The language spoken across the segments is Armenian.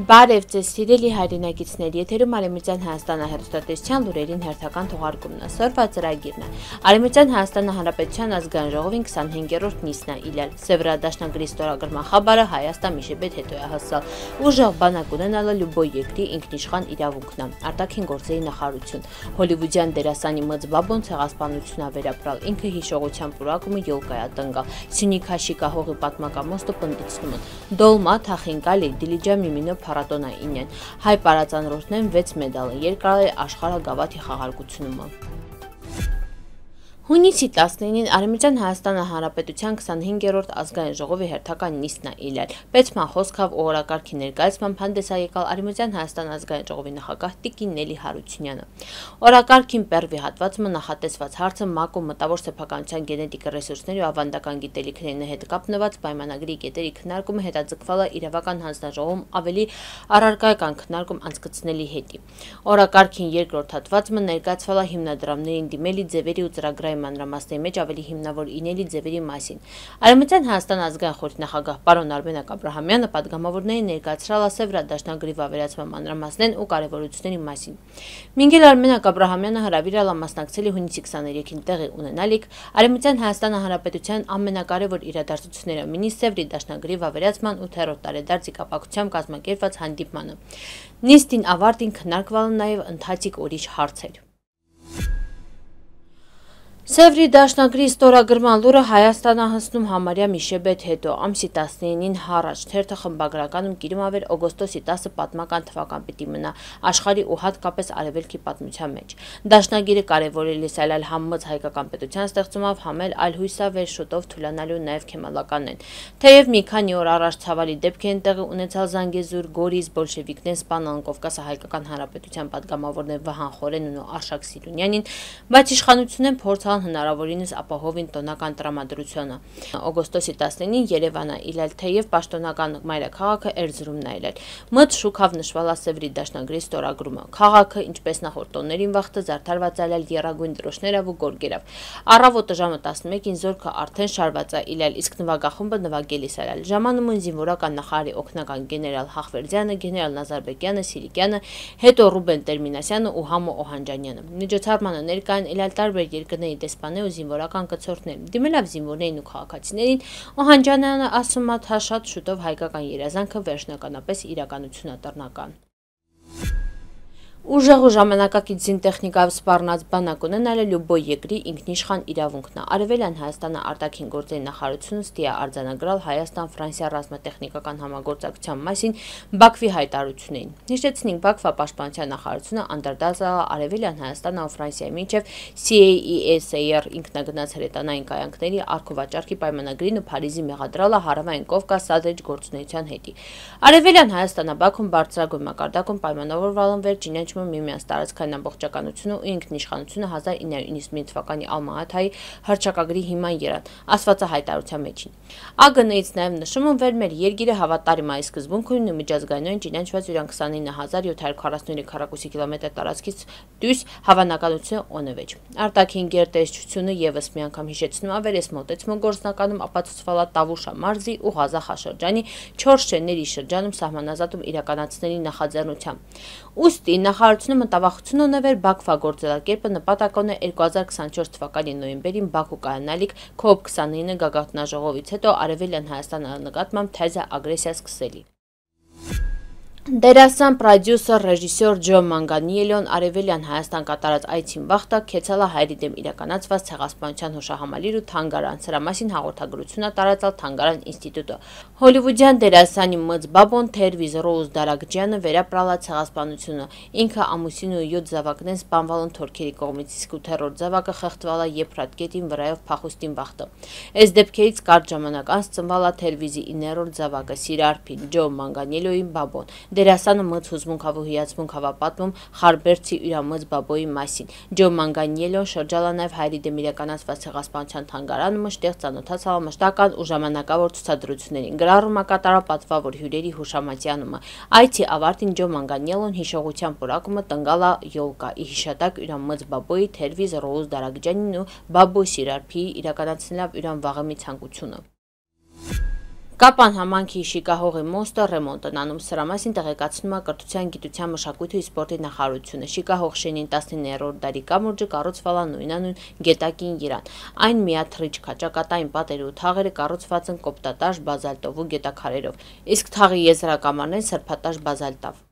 Բարև ձեզ սիրելի հայրենակիցներ, եթերում Արևմտյան Հայաստանը հեռուստատեսության լուրերին հերթական թողարկումն է, սրվա ծրագիրն է։ Արևմտյան Հայաստանը Հանրապետության ազգային ժողովին 25-րդ նիստն է իլել։ Սևրադաշնագրի ստորագրման խաբարը Հայաստան Միշեբեթ հետո է հասել։ Ուժեղ բանակ ունենալը լյուբոյ երկրի ինքնիշխան իրավունքն է, արտաքին գործերի նախարարություն։ Հոլիվուդյան դերասանի Մծ Բաբոն ցեղասպանություն է վերապրալ, ինքը հիշողության պուրակումը յոլկայա տնկալ, Սյունիք Հաշիկա հողի պատմակամոստը պնդիցնում են։ Դոլմա Թախինկալի Դիլիջա Միմինո փառատոնա ինեն, հայ պարածանրորդներն 6 մեդալ, երկրալ աշխարհ գավաթի խաղարկությունումը։ Հունիսի 19-ին Արևմտյան Հայաստանը Հանրապետության 25-րդ ազգային ժողովի հերթական նիստն է իլել։ Պետման խոսքով ու օրակարգի ներկայացմամբ հանդես է եկալ Արևմտյան Հայաստան ազգային ժողովի նախագահ Տիկին Նելի Հարությունյանը։ Օրակարգին պերվի հատվածը նախատեսված հարցը ՄԱԿ-ում մտավոր սեփականության գենետիկ ռեսուրսների ու ավանդական գիտելիքների հետ կապնված պայմանագրի կետերի քննարկումը հետաձգվել է իրավական հանձնաժողովում ավելի առարկայական քննարկում անցկացնելի հետի։ Օրակարգին երկրորդ հատվածը ներկայացվել է հիմնադրամներին դիմելի ձևերի ու ծրագրային մանրամասների մեջ ավելի հիմնավոր ինելի ձևերի մասին։ Արևմտյան Հայաստան ազգային խորհրդի նախագահ պարոն Արմենակ Աբրահամյանը պատգամավորներին ներկայացրել է Սևրադաշնագրի վավերացման մանրամասներն ու կարևորությունների մասին։ Մինգել Արմենակ Աբրահամյանը հրավիրել է մասնակցել հունիսի 23-ին տեղի ունենալիք Արևմտյան Հայաստան Հանրապետության ամենակարևոր իրադարձությունները մինի Սևրի դաշնագրի վավերացման 8-րդ տարեդարձի կապակցությամբ կազմակերպված հանդիպմանը։ Նիստին ավարտին քննարկվել են նաև ընթացիկ ուրիշ հարցեր։ Սևրի դաշնագրի ստորագրման լուրը Հայաստանը հասնում համարյա Միշեբեթ հետո ամսի 19-ին հառաջ թերթը խմբագրականում կիրում ավեր օգոստոսի 10-ը պատմական թվական պիտի մնա աշխարհի ու հատկապես արևելքի պատմության մեջ։ Դաշնագիրը կարևորել է սայլալ համմծ հայկական պետության ստեղծումով համել այլ հույսավեր շուտով թուլանալու նաև քեմալականն են։ Թեև մի քանի օր առաջ ցավալի դեպք են տեղի ունեցալ Զանգեզուր, Գորիս, բոլշևիկներն սպանան Կովկասի հայկական հանրապետության պատգամավորներ Վահան Խորենն ու Արշակ Սիրունյանին, բայց իշխանությունն փորձան հնարավորինս ապահովին տոնական տրամադրությունը։ Օգոստոսի 19-ին Երևանը իլել, թեև պաշտոնական մայրաքաղաքը Էրզրումն է իլել։ Մտ շուքավ նշվել է Սևրի դաշնագրի ստորագրումը։ Քաղաքը, ինչպես նախորդ տոներին վաղտը զարդարված է եռագույն դրոշներով ու գորգերով։ Առավոտը ժամը 11-ին զորքը արդեն շարված է իլել, իսկ նվագախումբը նվագելիս է ելել։ Ժամանումն զինվորական նախարարի օգնական գեներալ Հախվերդյանը, գեներալ Նազարբեկյանը, Սիրիկյանը, հետո Ռուբեն Տերմինասյանը ու Համո Օհանջանյանը։ Միջոցառմանը ներկային իլել տարբեր երկրների դեսպաններ ու զինվորական կցորդներ։ Դիմելով զինվորներին ու քաղաքացիներին, Օհանջանյանը ասում է, թե շատ շուտով հայկական երազանքը վերջնականապես իրականություն է դառնական։ Ուժեղ ու ժամանակակից զինտեխնիկայով սպառնած բանակ ունենալը լյուբոյ երկրի ինքնիշխան իրավունքն է։ Արևելյան Հայաստանը արտաքին գործերի նախարարությունը ստի է արձանագրել Հայաստան-Ֆրանսիա ռազմատեխնիկական համագործակցության մասին Բաքվի հայտարարություններին։ Հիշեցնենք, Բաքվա պաշտպանության նախարարությունը անդրադարձել է Արևելյան Հայաստանը ու Ֆրանսիայի միջև CAESAR ինքնագնաց հրետանային կայանքների առքովաճառքի պայմանագրին ու Փարիզի մեղադրել է Հարավային Կովկաս սադրիչ գործունեության հետի։ Արևելյան Հայաստանը Բաքվում բարձրագույն մակարդակում պայմանավորվել են վերջին միմյանց տարածքային ամբողջականությունը ու ինքնիշխանությունը 1991 թվականի Ալմա-Աթայի հռչակագրի հիման եռան, ասված է հայտարարության մեջին։ ԱԳՆ-ից նաև նշում են, որ մեր երկիրը հավատարիմ է սկզբունք ունի միջազգայինորեն ճանաչված իրան 29743 քառակուսի կիլոմետր տարածքից դուրս հավանականությունը օնվեջ։ Արտաքին գերտերչությունը եւս մի անգամ հիշեցնում է, որ այս մոտեցումը գործնականում ապացուցվել է Տավուշա մարզի ու Ղազախա շրջանի 4 շենների շրջանում սահմանազատում իրականացնելու նախաձեռնությամբ։ Ուստի նախարարությունը մտավախություն ունի, որ Բաքվա գործելակերպը նպատակ ունի 2024 թվականի նոյեմբերին Բաքու կայանալիք COP29 գագաթնաժողովից հետո Արևելյան Հայաստանի նկատմամբ թեզա ագրեսիա սկսելի։ Դերասան, պրոդյուսեր, ռեժիսոր Ջո Մանգանիելոն Արևելյան Հայաստան կատարած այցին վաղտը քեցել է հայերի դեմ իրականացված ցեղասպանության հուշահամալիր ու թանգարան։ Սրա մասին հաղորդագրություն է տարածել Թանգարան ինստիտուտը։ Հոլիվուդյան դերասանի Մծ Բաբոն Թերվիզ Ռոուզ Դարագջյանը վերապրալ է ցեղասպանությունը։ Ինքը ամուսինու 7 զավակներն սպանվել են թուրքերի կողմից, իսկ 8-րդ զավակը խեղդվել է Եփրատկետին վրայով փախուստին վաղտը։ Այս դեպքերից կարճ ժամանակ անց ծնվել է Թերվիզի 9-րդ զավակը Սիրարփին Ջո Մանգանիելոին Բաբոն։ Դերասանը մծ հուզմունքավ ու հիացմունք հավապատվում Խարբերցի յուրամծ Բաբոյի մասին։ Ջո Մանգանիելոն շրջալ է նաև հայերի դեմ իրականացված ցեղասպանության թանգարանը, մշտեղ ծանոթացավ մշտական ու ժամանակավոր ցուցադրություններին։ Գրառում է կատարել պատվավոր հյուրերի հուշամատյանումը։ Այցի ավարտին Ջո Մանգանիելոն հիշողության պուրակումը տնկալ է յոլկա՝ ի հիշատակ յուրամծ Բաբոյի, Թերվիզ Ռոուզ Դարագջյանին ու Բաբո Սիրարփիի իրականացնելով յուրան վաղեմի ցանկությունը։ Կապան համանքի շիկահողի մոստը ռեմոնտ են անում, սրա մասին տեղեկացնում է Կրթության, գիտության, մշակույթի ու սպորտի նախարարությունը։ Շիկահող շենին 19-րդ դարի կամուրջը կառուցվել է նույնանուն գետակին Երան։ Այն միաթռիչ քաճակատային պատերը ու թաղերը կառուցված են կոպտատաշ բազալտով ու գետաքարերով, իսկ թաղի եզրակամարներն սրբատաշ բազալտով։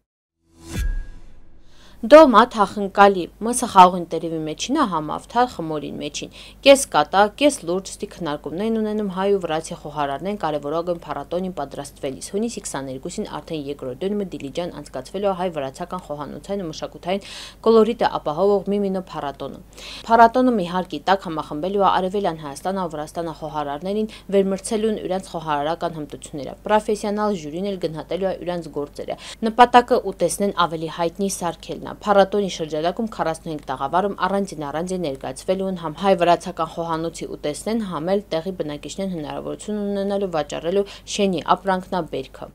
Դոմա թախնկալի մսը խաղողին տերևի մեջին է համավթար խմորին մեջին։ Կես կատա, կես լուրջ ստի քննարկումներ ունենում հայ ու վրացի խոհարարներն կարևորագույն փառատոնին պատրաստվելիս։ Հունիսի 22-ին արդեն երկրորդ դնում Դիլիջան անցկացվելու հայ-վրացական խոհանոցային ու մշակութային կոլորիտը ապահովող Միմինո փառատոնը։ Փառատոնը մի հարկի տակ համախմբելու է Արևելյան Հայաստանը ու Վրաստանը խոհարարներին վերմրցելուն իրենց խոհարարական հմտությունները։ Պրոֆեսիոնալ ժյուրին էլ գնահատելու է իրենց գործերը։ Նպատակը ուտեսնեն ավելի հայտնի սարքելն է։ Փառատոնի շրջանակում 45 տաղավարում առանձին ներկայացվելու են համ հայ-վրացական խոհանոցի ուտեսնեն, համ էլ տեղի բնակիչներն հնարավորություն ունենալու վաճառելու շենի ապրանքնաբերքը։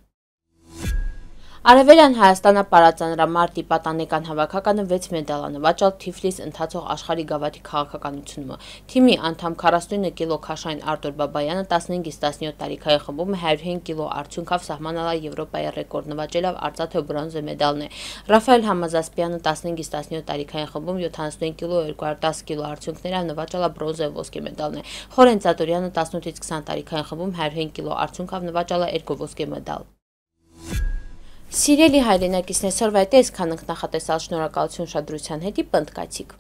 Արևելյան Հայաստանը պարածանրամարտի պատանեկան հավաքականը 6 մեդալ է նվաճել Թիֆլիս ընթացող աշխարհի գավաթի քաղաքականությունը։ Թիմի անդամ 49 կիլո քաշային Արտուր Բաբայանը 15-ից 17 տարիքային խմբում 105 կիլո արդյունքով սահմանալ Եվրոպայի ռեկորդ նվաճելով արծաթե ու բրոնզե մեդալներ։ Ռաֆայել Համազասպյանը 15-ից 17 տարիքային խմբում 75 կիլո 210 կիլո արդյունքներով նվաճել բրոնզե ու ոսկե մեդալներ։ Խորեն Ծատուրյանը 18-ից 20 տարիքային խմբում 105 կիլո արդյունքով նվաճել 2 ոսկե մեդալ։ Սիրելի հայրենակիցներ, սորվա այդ այսքան ենք նախատեսալ, շնորհակալություն ուշադրության հետի, պնդկացիք։